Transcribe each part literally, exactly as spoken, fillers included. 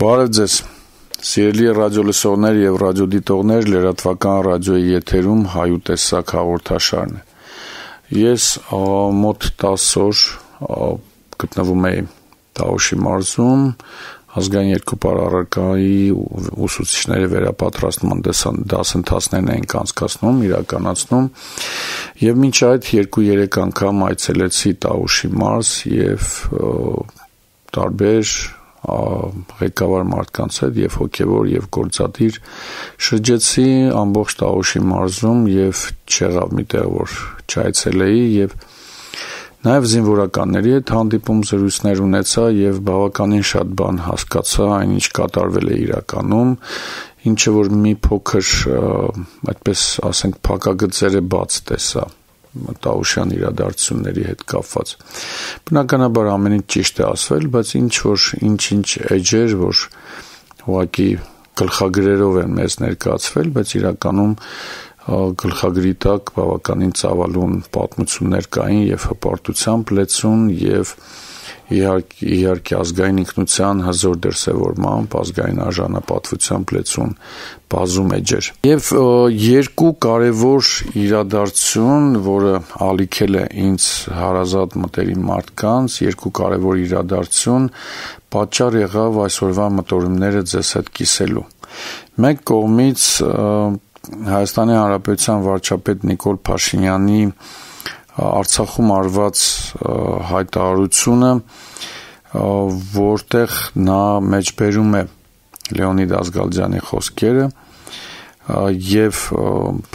Բարև ձեզ, սիրելի ռադիոլսողներ և ռադիոդիտողներ, լրատվական ռադիոյի եթերում հայուտեսակ հաղորդաշարն է։ Ես մոտ տասը օր գտնվում էի Տավուշի մարզում, ազգային երկրպար առարկայի ուսուցիչների վերապատրաստման դասընթացներն էինք անցկացնում, իրականացնում, և մինչ այդ երկու-երեք անգամ այցելեցի Տավուշի մարզ և տարբեր ղեկավար մարդկանց հետ և հոգևոր և գործադիր շրջեցի ամբողջ Տավուշի մարզում և չեղավ մի տեղ, որ չայցելեի և նաև զինվորականների հետ հանդիպում զրույցներ ունեցա և բավականին շատ բան հասկացա այն, ինչ կատարվել է իրականում, ինչը որ մի փոքր, այդպես ասենք, փակագծերը բաց տեսա Տավուշյան իրադարձությունների հետ կապված։ Բնականաբար ամեն ինչ ճիշտ է ասվել, բայց ինչ-որ ինչ-ինչ էջեր, որ ուղղակի գլխագրերով են մեզ ներկայացվել, բայց իրականում գլխագրի տակ բավականին ծավալուն պատմություններ կային և հպարտությամբ լեցուն և իհարկե ազգային ինքնության հզոր դրսևորմամբ, ազգային արժանապատվությամբ լեցուն բազում էջեր։ Եվ երկու կարևոր իրադարձություն, որը ալիքել է ինձ հարազատ մտերիմ մարդկանց, երկու կարևոր իրադարձություն պատճառ եղավ այսօրվա մտորումները ձեզ հետ կիսելու։ Մեկ կողմից Հայաստանի Հանրապետության վարչապետ Նիկոլ Փաշինյանի Արցախում արված հայտարարությունը, որտեղ նա մեջբերում է Լեոնիդ Ազգալյանի խոսքերը և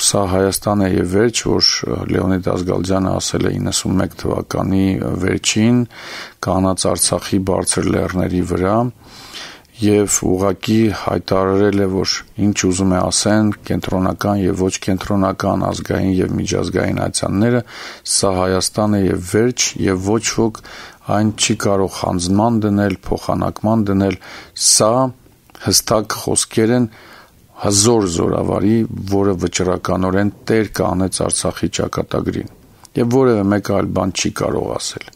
սա Հայաստան է և վերջ, որ Լեոնիդ Ազգալյանը ասել է իննսունմեկ թվականի վերջին կանանց Արցախի բարձր լեռների վրա և ուղղակի հայտարարել է, որ ինչ ուզում է ասեն կենտրոնական և ոչ կենտրոնական ազգային և միջազգային ատյանները, սա Հայաստան է և վերջ և ոչ ոք այն չի կարող հանձնման դնել, փոխանակման դնել, սա հստակ խոսքեր են հզոր զորավարի, որը վճռականորեն տեր կանեց Արցախի ճակատագրին և որևէ մեկը այլ բան չի կարող ասել։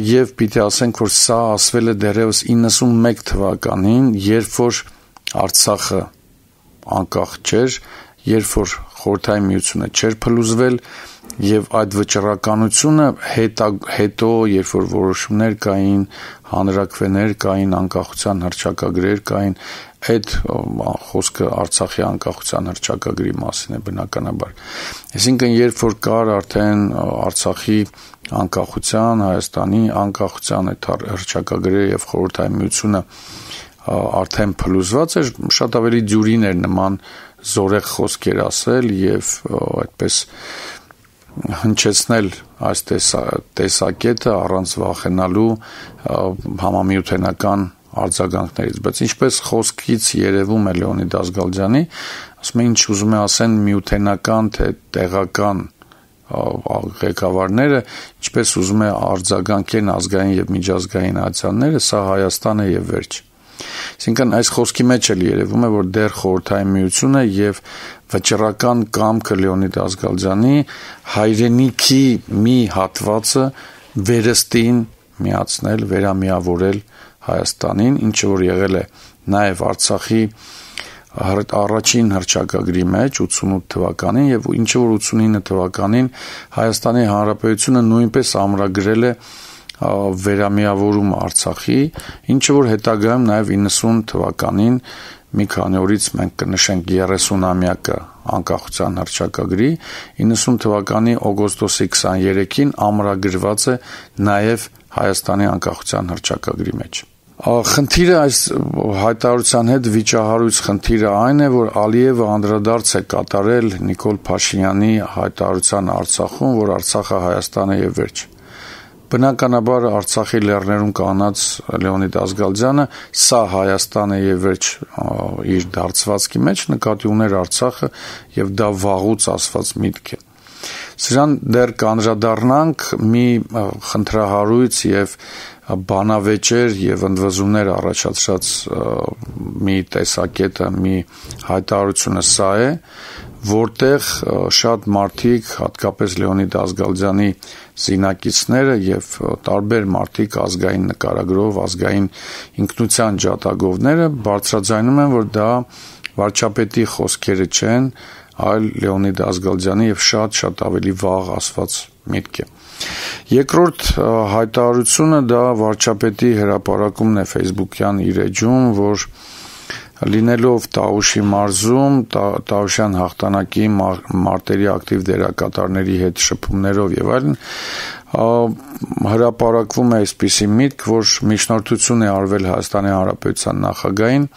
Եվ պիտի ասենք, որ սա ասվել է դեռևս իննսունմեկ թվականին, երբ որ Արցախը անկախ չէր, երբ որ Խորհրդային Միությունը չէր փլուզվել և այդ վճռականությունը հետո, երբ որ որոշումներ կային, հանրաքվեներ կային, անկախության հռչակագրեր կային, այդ խոսքը Արցախի անկախության հռչակագրի մասին է բնականաբար։ Այսինքն, երբ որ կար արդեն Արցախի անկախության, Հայաստանի անկախության այդ հռչակագրերը և Խորհրդային Միությունը արդեն փլուզված էր, շատ ավելի դյուրին էր նման զորեղ խոսքեր ասել և այդպես հնչեցնել այս տեսակետը առանց վախենալու համամիութենական արձագանքներից, բայց ինչպես խոսքից երևում է Լեոնիդ Ազգալյանի, ասում է ինչ ուզում է ասեն միութենական թե տեղական ղեկավարները, ինչպես ուզում է արձագանքեն ազգային և միջազգային ատյանները, սա Հայաստան է և վերջ։ Այսինքն այս խոսքի մեջ էլ երևում է, որ դեռ Խորհրդային Միությունը և վճռական կամքը Լեոնիդ Ազգալյանի հայրենիքի մի հատվածը վերստին միացնել, վերամիավորել Հայաստանին, ինչը որ եղել է նաև Արցախի առաջին հռչակագրի մեջ ութսունութ թվականին և ինչը որ ութսունինը թվականին Հայաստանի Հանրապետությունը նույնպես ամրագրել է վերամիավորում Արցախի, ինչը որ հետագայում նաև իննսուն թվականին մի քանի օրից մենք կնշենք երեսունամյակը անկախության հռչակագրի, իննսուն թվականի օգոստոսի քսաներեքին ամրագրված է նաև Հայաստանի անկախության հռչակագրի մեջ։ Խնդիրը այս հայտարարության հետ վիճահարույց խնդիրը այն է, որ Ալիևը անդրադարձ է կատարել Նիկոլ Փաշինյանի հայտարարության Արցախում, որ Արցախը Հայաստան է և վերջ։ Բնականաբար Արցախի լեռներում կանած Լեոնիդ Ազգալյանը սա Հայաստան է և վերջ իր դարձվածքի մեջ նկատի ուներ Արցախը և դա վաղուց ասված միտք է։ Սրան դեռ կանդրադառնանք մի խնդրահարույց և բանավեճեր և ընդվզումներ առաջացրած մի տեսակետը, մի հայտարարությունը սա է, որտեղ շատ մարդիկ, հատկապես Լեոնիդ Ազգալյանի զինակիցները եւ տարբեր մարդիկ ազգային նկարագրով, ազգային ինքնության ջատագովները բարձրաձայնում են, որ դա վարչապետի խոսքերը չեն, այլ Լեոնիդ Ազգալյանի եւ շատ-շատ ավելի վաղ ասված միտք է։ Երկրորդ հայտարարությունը դա վարչապետի հրապարակումն է Facebook-յան իր էջում, որ լինելով Տաուշի մարզում, Տաուշյան հաղթանակի մարտերի ակտիվ դերակատարների հետ շփումներով եւ այլն, հրապարակվում է այսպիսի միտք, որ միջնորդություն է արվել Հայաստանի Հանրապետության նախագահին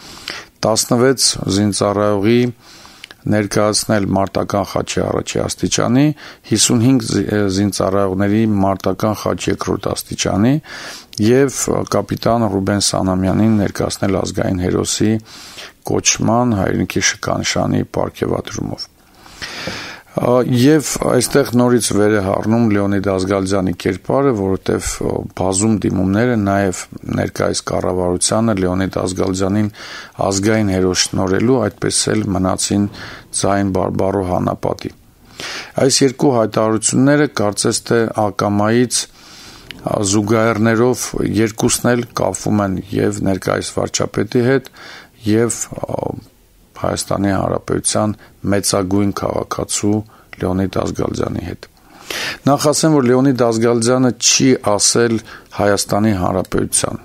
տասնվեց զինծառայողի ներկայացնել մարտական խաչի առաջի աստիճանի, հիսունհինգ զինծառայողների մարտական խաչ երկրորդ աստիճանի եւ կապիտան Ռուբեն Սանամյանին ներկայացնել ազգային հերոսի կոչման հայրենիքի շքանշանի պարգևատրումով։ Եվ այստեղ նորից վեր է հառնում Լեոնիդ Ազգալյանի կերպարը, որովհետև բազում դիմումները նաև ներկայիս կառավարությանը Լեոնիդ Ազգալյանին ազգային հերոս շնորհելու, այդպես էլ մնացին ձայն բարբառո հանապատի։ Այս երկու հայտարարությունները կարծես թե ակամայից զուգահեռներով երկուսն էլ կապվում են եւ ներկայիս վարչապետի հետ եւ Հայաստանի Հանրապետության մեծագույն քաղաքացու Լեոնիդ Ազգալյանի հետ։ Նախ ասեմ, որ Լեոնիդ Ազգալյանը չի ասել Հայաստանի Հանրապետության,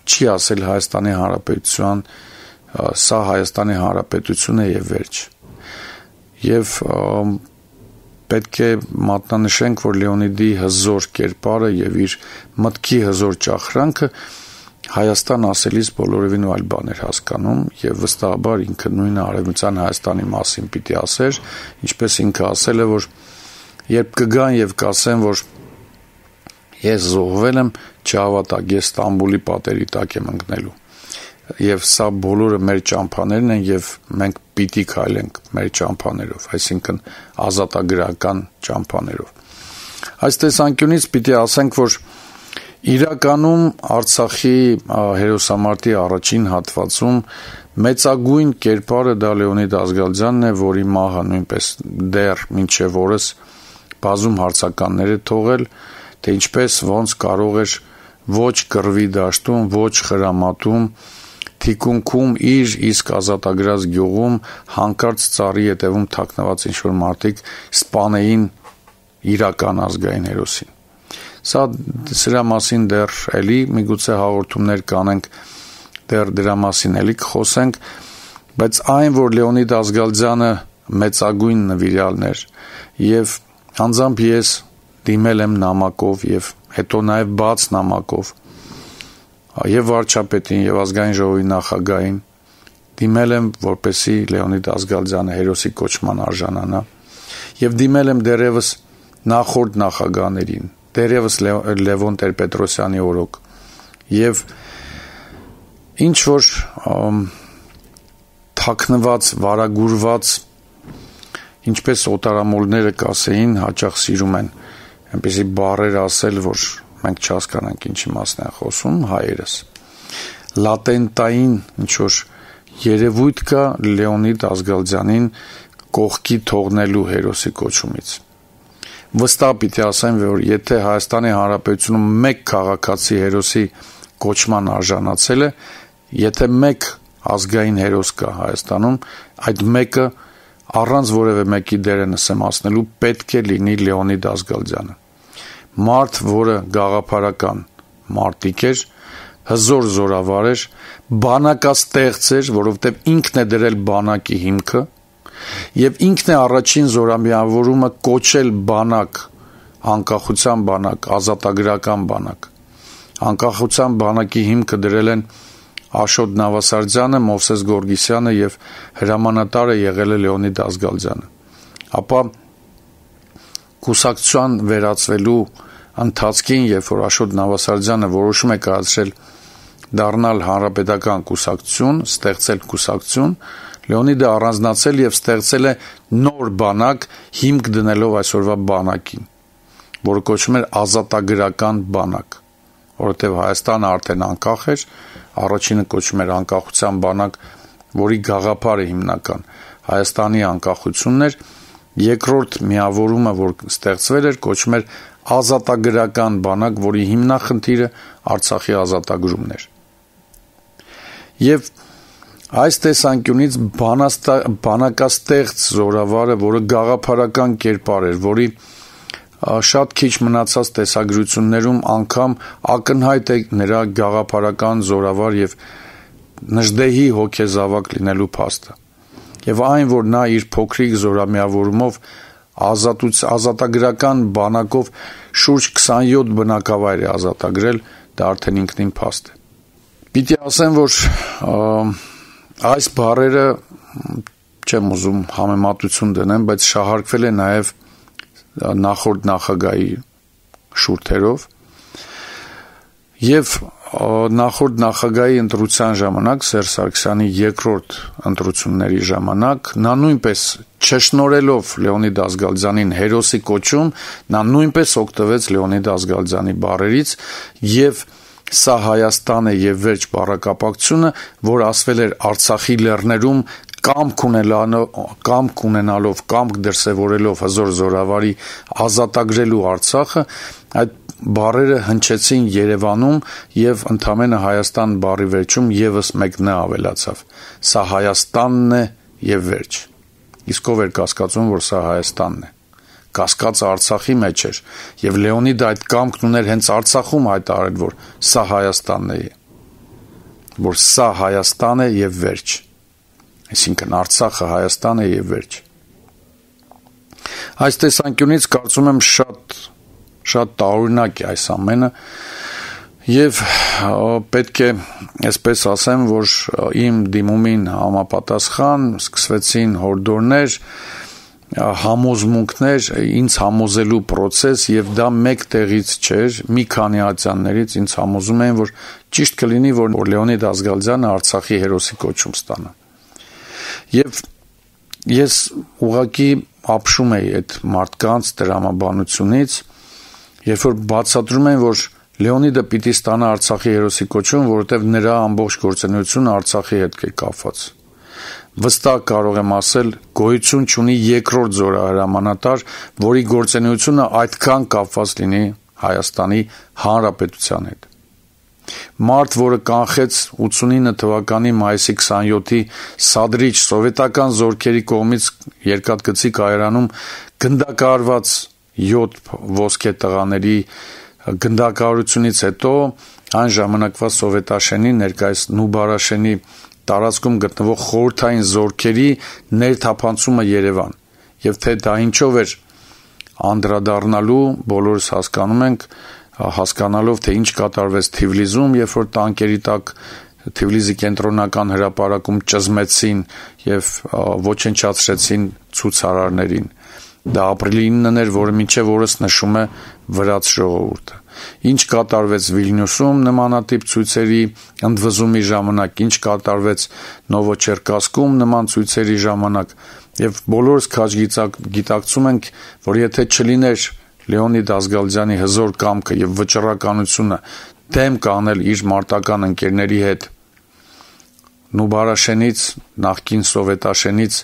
չի ասել Հայաստանի Հանրապետության, սա Հայաստանի Հանրապետություն է եւ վերջ։ Եվ պետք է մատնանշենք, որ Լեոնիդի հզոր կերպարը եւ իր մտքի հզոր ճախրանքը Հայաստան ասելիս բոլորովին այլ բաներ հասկանում եւ վստահաբար ինքը նույնը արևմտյան Հայաստանի մասին պիտի ասեր, ինչպես ինքը ասել է, որ երբ կգան եւ կասեն, որ ես զոհվել եմ, չհավատակ, ես Ստամբուլի պատերի տակ եմ ընկնելու։ Եվ սա բոլորը մեր ճամփաներն են եւ մենք պիտի քայլենք մեր ճամփաներով, այսինքն ազատագրական ճամփաներով։ Այս տեսանկյունից պիտի ասենք, որ իրականում Արցախի հերոսամարտի առաջին հատվածում մեծագույն կերպարը դա Լեոնիդ Ազգալյանն է, որի մահը նույնպես դեռ մինչև օրս բազում հարցականներ է թողել, թե ինչպես ոնց կարող էր ոչ կռվի դաշտում, ոչ խրամատում, թիկունքում իր իսկ ազատագրած գյուղում հանկարծ ծառի ետևում թաքնված ինչ-որ մարդիկ սպանեին իրական ազգային հերոսին։ Սա սրա մասին դեռ էլի միգուցե հաղորդումներ կանենք, դեռ դրա մասին էլի կխոսենք, բայց այն, որ Լեոնիդ Ազգալյանը մեծագույն նվիրյալն էր եւ անձամբ ես դիմել եմ նամակով եւ հետո նաեւ բաց նամակով եւ վարչապետին եւ ազգային ժողովի նախագահին դիմել եմ, որպեսի Լեոնիդ Ազգալյանը հերոսի կոչման արժանանա եւ դիմել եմ դերևս նախորդ նախագահներին դերևս Լևոն Տեր-Պետրոսյանի օրոք եւ ինչ որ թաքնված, վարագուրված, ինչպես օտարամոլները կասեին, հաճախ սիրում են այնպեսի բառեր ասել, որ մենք չհասկանանք ինչի մասն են խոսում, հայերս։ Լատենտային ինչ որ երևույթ կա Լեոնիդ Ազգալյանին կողքի թողնելու հերոսի կոչումից։ Վստահ պիտի ասեմ, որ եթե Հայաստանի Հանրապետությունում մեկ քաղաքացի հերոսի կոչման արժանացել է, եթե մեկ ազգային հերոս կա Հայաստանում, այդ մեկը առանց որևէ մեկի դերը նսեմացնելու պետք է լինի Լեոնիդ Ազգալյանը։ Մարդ, որը գաղափարական մարտիկ էր, հզոր զորավար էր, բանակաստեղծ էր, որովհետև ինքն է դրել բանակի հիմքը, եւ ինքն է առաջին զորամիավորումը կոչել բանակ, անկախության բանակ, ազատագրական բանակ։ Անկախության բանակի հիմքը դրել են Աշոտ Նավասարդյանը, Մովսես Գորգիսյանը եւ հրամանատարը եղել է Լեոնիդ Ազգալյանը։ Ապա կուսակցության վերածվելու ընթացքին, երբ որ Աշոտ Նավասարդյանը որոշում է կայացրել դառնալ հանրապետական կուսակցություն, ստեղծել կուսակցություն, Լեոնիդը առանձնացել եւ ստեղծել է նոր բանակ հիմք դնելով այսօրվա բանակին, որը կոչվում էր ազատագրական բանակ, որովհետեւ Հայաստանը արդեն անկախ էր, առաջինը կոչվում էր անկախության բանակ, որի գաղափարը հիմնական Հայաստանի անկախությունն էր, երկրորդ միավորումը, որ ստեղծվել էր, կոչվում էր ազատագրական բանակ, որի հիմնախնդիրը Արցախի ազատագրումն էր։ Եվ այս տեսանկյունից բանակաստեղծ Զորավարը, որը գաղափարական կերպար էր, որի շատ քիչ մնացած տեսագրություններում անգամ ակնհայտ է նրա գաղափարական զորավար եւ նժդեհի հոգեզավակ լինելու փաստը։ Եվ այն, որ նա իր փոքրիկ զորամիավորումով ազատագրական բանակով շուրջ քսանյոթ բնակավայր է ազատագրել, դա արդեն ինքնին փաստ է։ Պիտի ասեմ, որ այս բառերը չեմ ուզում համեմատություն դնեմ, բայց շահարկվել է նաև նախորդ նախագահի շուրթերով եւ նախորդ նախագահի ընտրության ժամանակ Սերժ Սարգսյանի երկրորդ ընտրությունների ժամանակ նա նույնպես չշնորելով Լեոնիդ Ազգալյանին հերոսի կոչում, նա նույնպես օգտվեց Լեոնիդ Ազգալյանի բառերից եւ սա Հայաստան է եւ վերջ բառակապակցությունը, որ ասվել էր Արցախի լեռներում կամք ունենալով, կամք ունենալով, կամք դրսևորելով հզոր զորավարի ազատագրելու Արցախը, այդ բառերը հնչեցին Երևանում եւ ընդամենը Հայաստան բառի վերջում եւս մեկն է ավելացավ։ Սա Հայաստանն է եւ վերջ։ Իսկ ով էր կասկածում, որ սա Հայաստանն է։ Կասկածը Արցախի մեջ էր եւ Լեոնիդը այդ կամքն ուներ հենց Արցախում հայտարարել, որ սա Հայաստանն է, որ սա Հայաստան է եւ վերջ։ Այսինքն Արցախը Հայաստան է եւ վերջ։ Այս տեսանկյունից կարծում եմ շատ շատ տարօրինակ է այս ամենը եւ պետք է այսպես ասեմ, որ իմ դիմումին համապատասխան սկսվեցին հորդորներ, համոզմունքներ, ինձ համոզելու process եւ դա մեկ տեղից չէր, մի քանի ատյաններից ինձ համոզում էին, որ ճիշտ կլինի, որ Լեոնիդ Ազգալյանը Արցախի հերոսի կոչում ստանա։ Եվ ես ուղղակի ապշում էի այդ մարդկանց դրամաբանությունից, երբ որ բացատրում են, որ Լեոնիդը պիտի ստանա Արցախի հերոսի կոչում, որովհետև նրա ամբողջ գործունեությունը Արցախի հետ է կապված։ Վստահ կարող եմ ասել, գոյություն չունի երկրորդ զորահրամանատար, որի գործունեությունը այդքան կապված լինի Հայաստանի Հանրապետության հետ։ Մարդ, որը կանխեց ութսունինը թվականի մայիսի քսանյոթի սադրիչ սովետական զորքերի կողմից Երկաթգծի կայարանում գնդակահարված յոթ ոսկե տղաների գնդակահարությունից հետո այն ժամանակվա սովետաշենի, ներկայիս Նուբարաշենի տարածքում գտնվող խորհրդային զորքերի ներթափանցումը Երևան, եւ թե դա ինչով էր անդրադառնալու, բոլորս հասկանում ենք, հասկանալով, թե ինչ կատարվեց Թիֆլիսում, երբ որ տանկերի տակ Թիֆլիսի կենտրոնական հրապարակում ճզմեցին եւ ոչնչացրեցին ցուցարարներին։ Դա ապրիլի իննն էր, որը մինչև օրս նշում է վրաց ժողովուրդը։ Ինչ կատարվեց Վիլնյուսում նմանատիպ ցույցերի ընդվզումի ժամանակ, ինչ կատարվեց Նովոչերկասկում նման ցույցերի ժամանակ, եւ բոլորս քաջ գիտակցում ենք, որ եթե չլիներ Լեոնիդ Ազգալյանի հզոր կամքը եւ վճռականությունը դեմ կանել իր մարտական ընկերների հետ Նուբարաշենից, նախկին սովետաշենից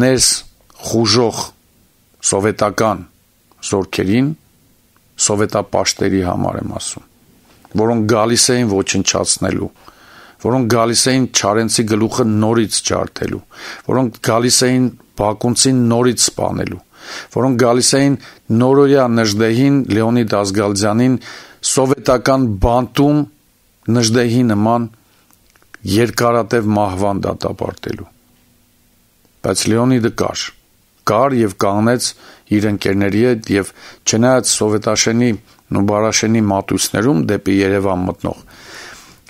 ներս խուժող սովետական զորքերին, սովետապաշտերի համար եմ ասում, որոնք գալիս էին ոչնչացնելու, որոնք գալիս էին Չարենցի գլուխը նորից ջարդելու, որոնք գալիս էին Բակունցին նորից սպանելու, որոնք գալիս էին նորօրյա Նժդեհին, Լեոնիդ Ազգալյանին սովետական բանտում Նժդեհի նման երկարատև մահվան դատապարտելու։ Բայց Լեոնիդը կար, կար եւ կանգնեց իր ընկերների հետ եւ չնայած սովետաշենի Նուբարաշենի մատույցներում դեպի Երևան մտնող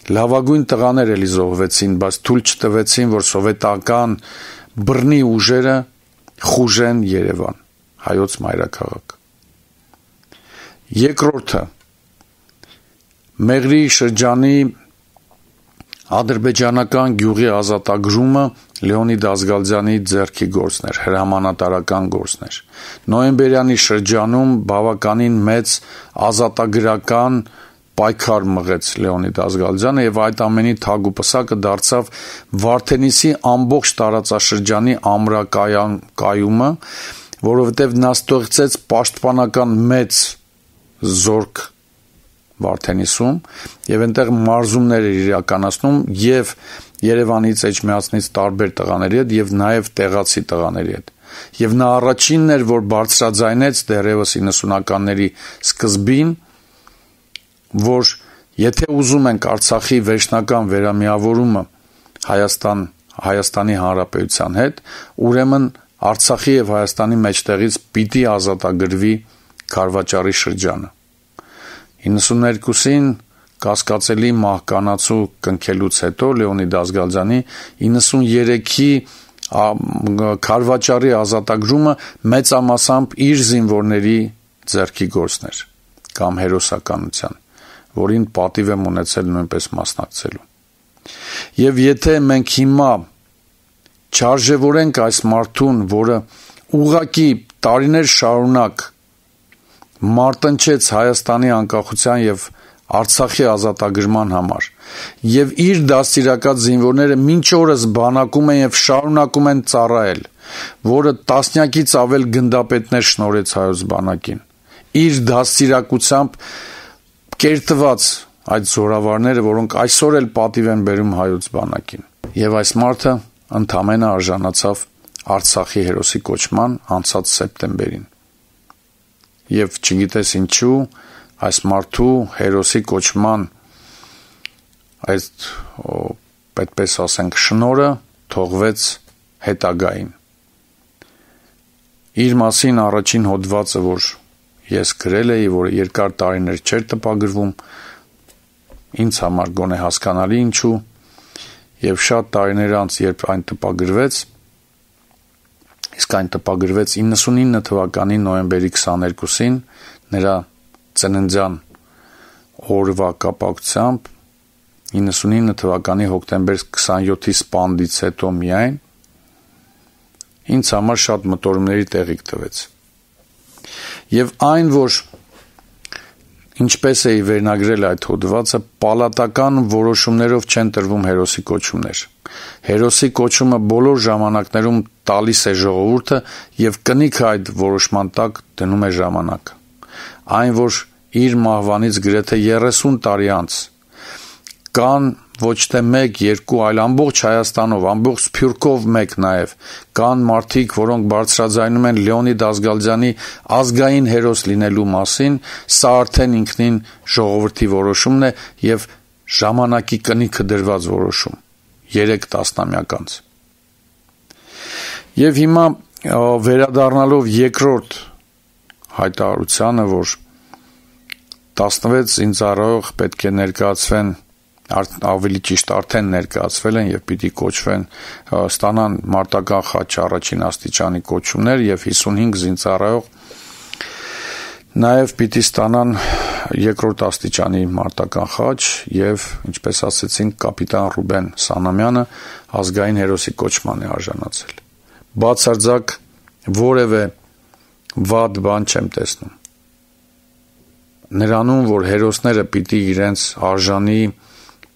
լավագույն տղաներ էլի զոհվեցին, բայց թույլ չտվեցին, որ սովետական բռնի ուժերը խուժեն Երևան, հայոց մայրաքաղաք։ Երկրորդը Մեղրի շրջանի ադրբեջանական գյուղի ազատագրումը Լեոնիդ Ազգալյանի ձեռքի գործն էր, հրամանատարական գործն էր։ Նոյեմբերյանի շրջանում բավականին մեծ ազատագրական պայքար մղեց Լեոնիդ Ազգալյանը եւ այդ ամենի թագ ու պսակը դարձավ Վարդենիսի ամբողջ տարածաշրջանի ամրակայումը, որովհետեւ նա ստեղծեց պաշտպանական մեծ զորք Վարդենիսում եւ այնտեղ մարզումներ էր իրականացնում եւ Երևանից, Էջմիածնից տարբեր տղաների հետ եւ նաեւ տեղացի տղաների հետ։ Եվ նա առաջինն էր, որ բարձրաձայնեց դեռևս իննսունականների սկզբին, որ եթե ուզում ենք Արցախի վերջնական վերամիավորումը Հայաստան, Հայաստանի Հանրապետության հետ, ուրեմն Արցախի եւ Հայաստանի մեջտեղից պիտի ազատագրվի Քարվաճարի շրջանը։ իննսուներկուսին կասկածելի մահկանացու կնքելուց հետո Լեոնիդ Ազգալյանի իննսուներեքի Քարվաճարի ազատագրումը մեծամասամբ իր զինվորների ձեռքի գործն էր կամ հերոսականության, որին պատիվ եմ ունեցել նույնպես մասնակցելու։ Եվ եթե մենք հիմա չարժևորենք այս մարդուն, որը ուղղակի տարիներ շարունակ մարտնչեց Հայաստանի անկախության եւ Արցախի ազատագրման համար եւ իր դաստիարակած զինվորները մինչ օրս բանակում են եւ շարունակում են ծառայել, որը տասնյակից ավել գնդապետներ շնորհեց հայոց բանակին, իր դաստիարակությամբ կերտված այդ զորավարները, որոնք այսօր էլ պատիվ են բերում հայոց բանակին, եւ այս մարդը ընդամենը արժանացավ Արցախի հերոսի կոչման անցած սեպտեմբերին։ Եվ չգիտես ինչու այս մարդու հերոսի կոչման այդ այդպես ասենք շնորը թողվեց հետագային։ Իր մասին առաջին հոդվածը, որ ես գրել էի, որ երկար տարիներ չէր տպագրվում, ինձ համար գոնե հասկանալի ինչու, եւ շատ տարիներ անց, երբ այն տպագրվեց, իսկ այն տպագրվեց իննսունինը թվականի նոյեմբերի քսաներկուսին, նրա ծննդյան օրվա կապակցությամբ իննսունինը թվականի հոկտեմբեր քսանյոթի սպանդից հետո միայն ինձ համար շատ մտորումների տեղիք տվեց։ Եվ այն, որ ինչպես էի վերնագրել այդ հոդվածը, պալատական որոշումներով չեն տրվում հերոսի կոչումներ։ Հերոսի կոչումը բոլոր ժամանակներում տալիս է ժողովուրդը եւ կնիքը այդ որոշման տակ դնում է ժամանակը։ Այն, որ իր մահվանից գրեթե երեսուն տարի անց կան ոչ թե մեկ, երկու, այլ ամբողջ Հայաստանով, ամբողջ Սփյուռքով մեկ նաև կան մարդիկ, որոնք բարձրաձայնում են Լեոնիդ Ազգալյանի ազգային հերոս լինելու մասին, սա արդեն ինքնին ժողովրդի որոշումն է եւ ժամանակի կնիքը դրված որոշում երեք տասնամյակ անց։ Եվ հիմա վերադառնալով երկրորդ հայտարարությանը, որ տասնվեց զինծառայող պետք է ներկայացվեն, ավելի ճիշտ արդեն ներկայացվել են եւ պիտի կոչվեն, ստանան մարտական խաչ առաջին աստիճանի կոչումներ եւ հիսունհինգ զինծառայող նաեւ պիտի ստանան երկրորդ աստիճանի մարտական խաչ եւ ինչպես ասեցինք կապիտան Ռուբեն Սանամյանը ազգային հերոսի կոչման է արժանացել։ Բացարձակ որևէ վատ բան չեմ տեսնում։ Նրանում, որ հերոսները պիտի իրենց արժանի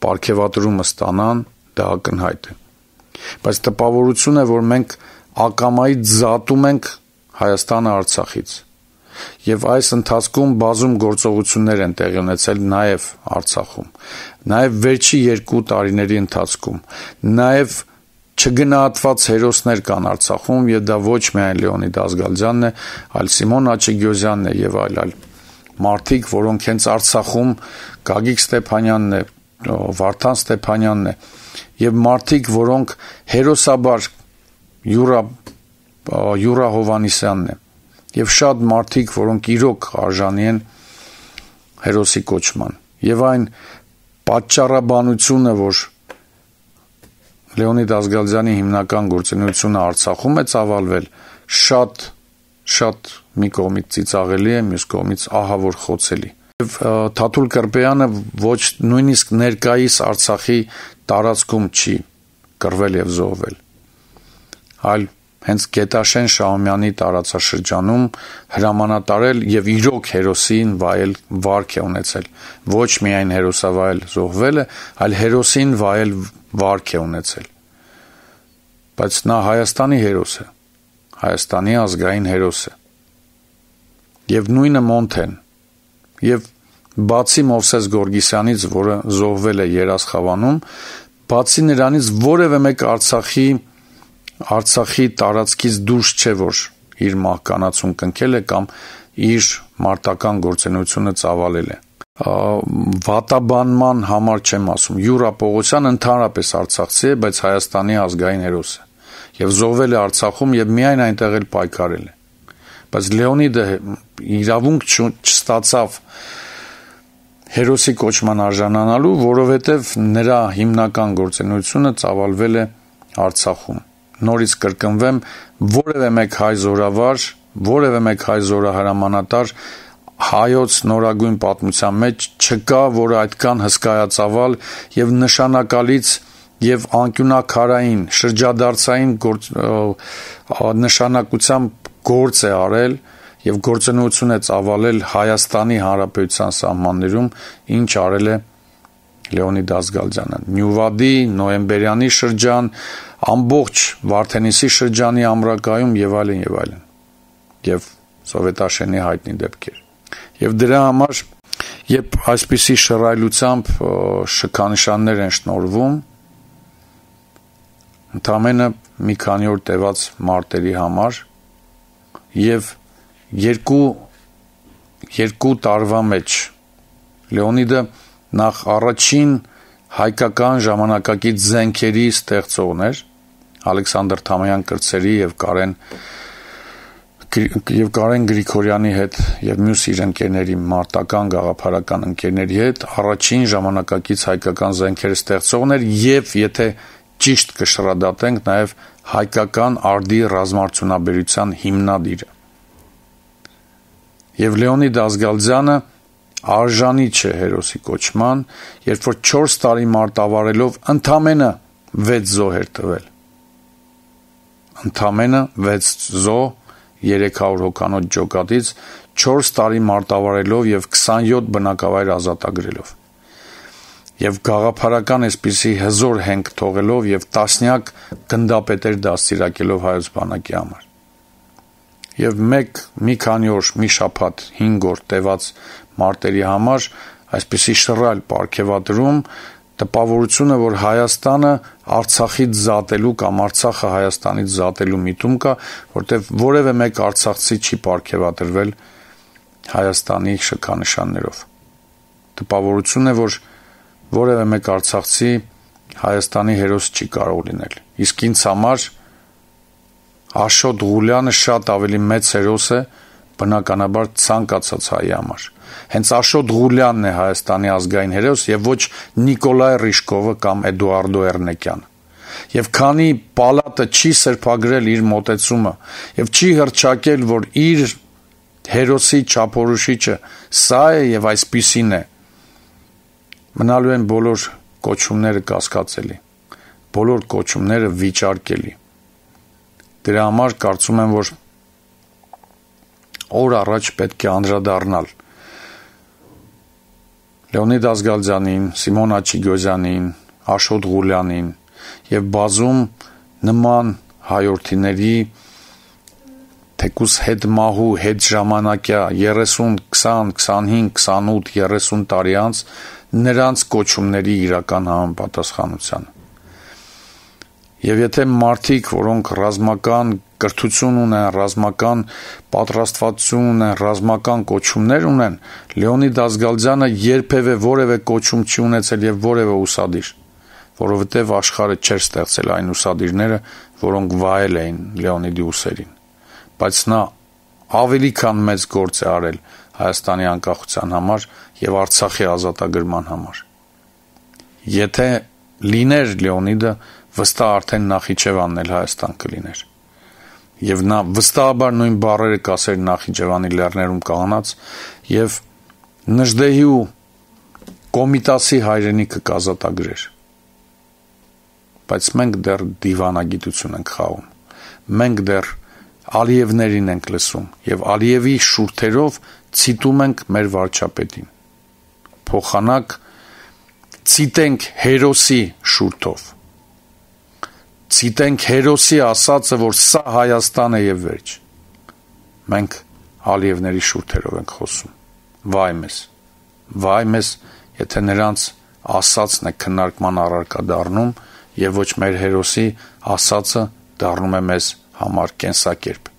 պարգևատրումը ստանան, դա ակնհայտ է։ Բայց տպավորություն է, որ մենք ակամայից զատում ենք Հայաստանը Արցախից։ Եվ այս ընթացքում բազում գործողություններ են տեղի ունեցել նաև Արցախում, նաև վերջի երկու տարիների ընթացքում, նաև չգնահատված հերոսներ կան Արցախում, եւ դա ոչ միայն Լեոնիդ Ազգալյանն է, այլ Սիմոն Աչեգյոզյանն է եւ այլ այլ մարդիկ, որոնք հենց Արցախում Գագիկ Ստեփանյանն է, Վարդան Ստեփանյանն է եւ մարդիկ, որոնք հերոսաբար Յուրա Յուրա Հովանիսյանն է եւ շատ մարդիկ, որոնք իրոք արժանի են հերոսի կոչման։ Եվ այն պատճառաբանությունը, որ Լեոնիդ Ազգալյանի հիմնական գործունեությունը Արցախում է ծավալվել, շատ շատ մի կողմից ծիծաղելի է, մյուս կողմից ահավոր խոցելի։ Եվ Թաթուլ Կրպեյանը ոչ նույնիսկ ներկայիս Արցախի տարածքում չի կռվել եւ զոհվել, այլ հենց Գետաշեն Շահումյանի տարածաշրջանում հրամանատարել եւ իրոք հերոսին վայել վարք է ունեցել, ոչ միայն հերոսավայել զոհվելը, այլ հերոսին վայել վարք է ունեցել, բայց նա Հայաստանի հերոս է, Հայաստանի ազգային հերոս է, եւ նույնը Մոնթեն, եւ բացի Մովսես Գորգիսյանից, որը զոհվել է Երասխավանում, բացի նրանից որևէ մեկ Արցախի Արցախի տարածքից դուրս չէ, որ իր մահկանացուն կնքել է կամ իր մարտական գործունեությունը ծավալել է։ Վատաբանման համար չեմ ասում, Յուրա Պողոսյան ընդհանրապես արցախցի է, բայց Հայաստանի ազգային հերոս է եւ զոհվել է Արցախում եւ միայն այնտեղ էլ պայքարել է։ Բայց Լեոնիդը իրավունք չստացավ հերոսի կոչման արժանանալու, որովհետեւ նրա հիմնական գործունեությունը ծավալվել է Արցախում։ Նորից կրկնվեմ, որևէ մեկ հայ զորավար, որևէ մեկ հայ զորահրամանատար հայոց նորագույն պատմության մեջ չկա, որը այդքան հսկայածավալ եւ նշանակալից եւ անկյունակարային շրջադարձային գործ, նշանակությամբ գործ է արել եւ գործունեություն է ծավալել Հայաստանի Հանրապետության սահմաններում, ինչ արել է Լեոնիդ Ազգալյանը։ Նյուվադի, նոյեմբերյանի շրջան, ամբողջ Վարդենիսի շրջանի ամրակայում եւ այլն եւ այլն։ Եվ Սովետաշենի հայտնի դեպքեր։ Եվ դրա համար, երբ այսպիսի շռայլությամբ շքանշաններ են շնորհվում, ընդամենը մի քանի օր տևած մարտերի համար եւ երկու երկու տարվա մեջ Լեոնիդը նախ առաջին հայկական ժամանակակից զենքերի ստեղծողն էր, Ալեքսանդր Թամայան կրծերի եւ Կարեն եւ Կարեն Գրիգորյանի հետ եւ մյուս իր ընկերների մարտական գաղափարական ընկերների հետ առաջին ժամանակակից հայկական զենքեր ստեղծողն էր եւ եթե ճիշտ կշռադատենք նաեւ հայկական արդի ռազմարտունաբերության հիմնադիրը։ Եվ Լեոնիդ Ազգալյանը արժանի չէ հերոսի կոչման, երբ որ չորս տարի մարտավարելով ընդամենը վեց զոհ էր տվել։ Ընդամենը վեց զոհ երեք հարյուր հոգանոց ջոկատից չորս տարի մարտավարելով եւ քսանյոթ բնակավայր ազատագրելով։ Եվ գաղափարական այսպիսի հզոր հենք թողելով եւ տասնյակ գնդապետեր դաստիարակելով հայոց բանակի համար։ Եվ մեկ մի քանի օր, մի շաբաթ, հինգ օր տևած մարտերի համար այսպիսի շռայլ պարգևատրում տպավորությունը, որ Հայաստանը Արցախից զատելու կամ Արցախը Հայաստանից զատելու միտում կա, որտեղ որևէ մեկ արցախցի չի պարգևատրվել Հայաստանի շքանշաններով։ Տպավորություն է, որ որևէ մեկ արցախցի Հայաստանի հերոս չի կարող լինել։ Իսկ ինձ համար Աշոտ Ղուլյանը շատ ավելի մեծ հերոս է, բնականաբար ցանկացած հայի համար։ Հենց Աշոտ Ղուլյանն է Հայաստանի ազգային հերոս եւ ոչ Նիկոլայ Ռիշկովը կամ Էդուարդո Էրնեկյանը։ Եվ քանի պալատը չի սրբագրել իր մոտեցումը եւ չի հռչակել, որ իր հերոսի չափորոշիչը սա է եւ այսպիսին է, մնալու են բոլոր կոչումները կասկածելի, բոլոր կոչումները վիճարկելի։ Դրա համար կարծում եմ, որ օր առաջ պետք է անդրադառնալ Լեոնիդ Ազգալյանին, Սիմոն Աչիգոզյանին, Աշոտ Ղուլյանին եւ բազում նման հայրենիների թեկուս հետ մահու, հետ ժամանակյա երեսուն, քսան, քսանհինգ, քսանութ, երեսուն տարի անց նրանց կոչումների իրական համապատասխանությանը։ Եվ եթե մարդիկ, որոնք ռազմական կրթություն ունեն, ռազմական պատրաստվածություն ունեն, ռազմական կոչումներ ունեն, Լեոնիդ Ազգալյանը երբևէ որևէ կոչում չի ունեցել եւ որևէ ուսադիր, որովհետեւ աշխարհը չէր ստեղծել այն ուսադիրները, որոնք վայել էին Լեոնիդի ուսերին։ Բայց նա ավելի քան մեծ գործ է արել Հայաստանի անկախության համար եւ Արցախի ազատագրման համար։ Եթե լիներ Լեոնիդը, վստահ արդեն Նախիջևանն էլ Հայաստան կլիներ։ Եվ նա վստահաբար նույն բառերը կասեր Նախիջևանի լեռներում կանգնած եւ Նժդեհի ու Կոմիտասի հայրենիքը կազատագրեր։ Բայց մենք դեռ դիվանագիտություն ենք խաղում։ մենք դեռ Ալիևներին ենք լսում եւ Ալիևի շուրթերով ցիտում ենք մեր վարչապետին։ Փոխանակ ցիտենք հերոսի շուրթով։ Ցիտենք հերոսի ասածը, որ սա Հայաստան է եւ վերջ։ Մենք Ալիևների շուրթերով ենք խոսում։ Վայ մեզ, վայ մեզ, եթե նրանց ասածն է քննարկման առարկա դառնում եւ ոչ մեր հերոսի ասածը դառնում է մեզ համար կենսակերպ։